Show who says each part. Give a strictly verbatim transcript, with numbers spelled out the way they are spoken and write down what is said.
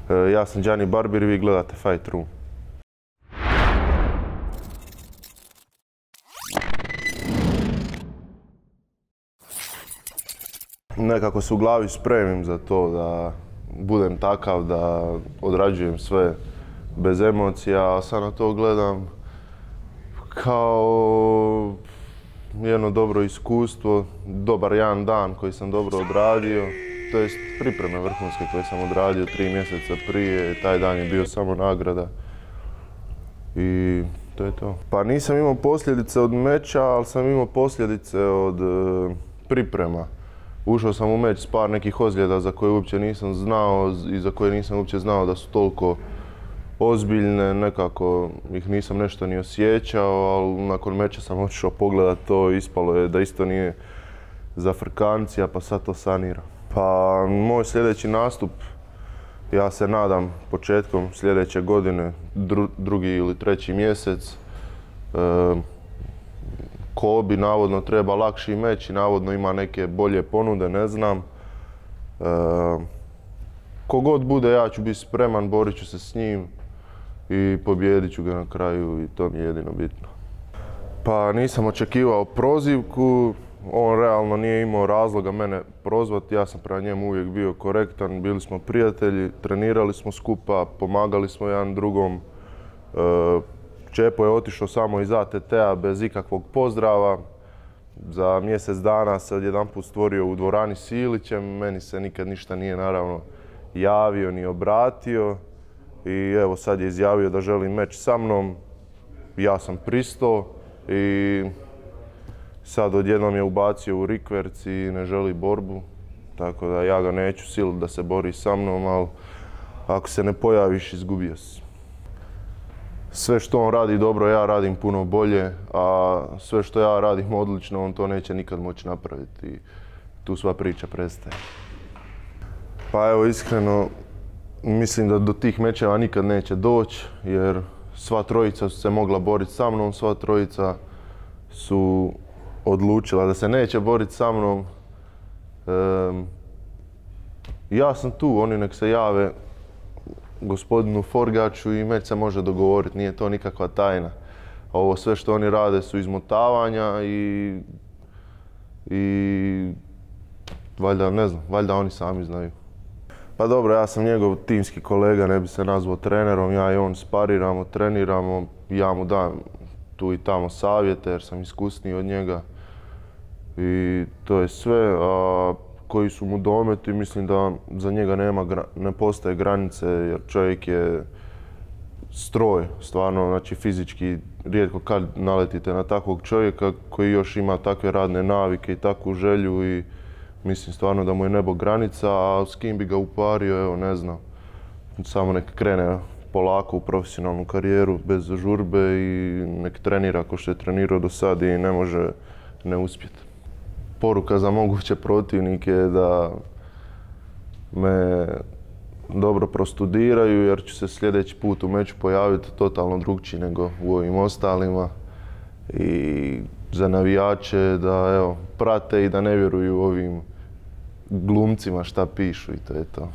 Speaker 1: Ja sam Gianni Barbier i vi gledate Fight Room. Nekako se u glavi spremim za to da budem takav, da odrađujem sve bez emocija, a sad na to gledam kao jedno dobro iskustvo, dobar jedan dan koji sam dobro odradio, to jest pripreme vrhunske koje sam odradio tri mjeseca prije, taj dan je bio samo nagrada i to je to. Pa nisam imao posljedice od meča, ali sam imao posljedice od e, priprema. Ušao sam u meč s par nekih ozljeda za koje uopće nisam znao i za koje nisam uopće znao da su toliko ozbiljne, nekako ih nisam nešto ni osjećao, ali nakon meča sam otišao pogledat to i ispalo je da isto nije za frkancija, pa sad to saniram. Pa moj sljedeći nastup, ja se nadam početkom sljedeće godine, dru, drugi ili treći mjesec. E, Kobi navodno treba lakši meč i navodno ima neke bolje ponude, ne znam. E, Kogod bude, ja ću biti spreman, borit ću se s njim i pobijedit ću ga na kraju i to mi je jedino bitno. Pa nisam očekivao prozivku, on realno nije imao razloga mene prozvati, ja sam prema njemu uvijek bio korektan, bili smo prijatelji, trenirali smo skupa, pomagali smo jedan drugom. Čepo je otišao samo iz A T T-a bez ikakvog pozdrava. Za mjesec dana se odjedanput stvorio u dvorani s Ilićem, meni se nikad ništa nije naravno javio ni obratio. I evo sad je izjavio da želi meč sa mnom, ja sam pristao i sad odjednom je ubacio u rikverc i ne želi borbu. Tako da ja ga neću siliti da se bori sa mnom, ali ako se ne pojaviš, izgubio si. Sve što on radi dobro, ja radim puno bolje, a sve što ja radim odlično, on to neće nikad moći napraviti i tu sva priča prestaje. Pa evo, iskreno, mislim da do tih mečeva nikad neće doći, jer sva trojica su se mogla boriti sa mnom, sva trojica su odlučila da se neće boriti sa mnom. E, ja sam tu, oni nek se jave gospodinu Forgaču i meč se može dogovoriti, nije to nikakva tajna. A ovo sve što oni rade su izmotavanja i, i valjda, ne znam, valjda oni sami znaju. Pa dobro, ja sam njegov timski kolega, ne bi se nazvao trenerom, ja i on spariramo, treniramo, ja mu dam tu i tamo savjete jer sam iskusniji od njega i to je sve. A koji su mu dometi, mislim da za njega nema, ne postoje granice jer čovjek je stroj, stvarno, znači fizički rijetko kad naletite na takvog čovjeka koji još ima takve radne navike i takvu želju i mislim stvarno da mu je nebo granica, a s kim bi ga upario, evo ne znam. Samo nek krene polako u profesionalnu karijeru bez žurbe i nek trenira kao što je trenirao do sad i ne može ne uspjeti. Poruka za moguće protivnike je da me dobro prostudiraju jer ću se sljedeći put u meču pojaviti totalno drukčiji nego u ovim ostalima. I za navijače da evo, prate i da ne vjeruju ovim glumcima šta pišu i to je to.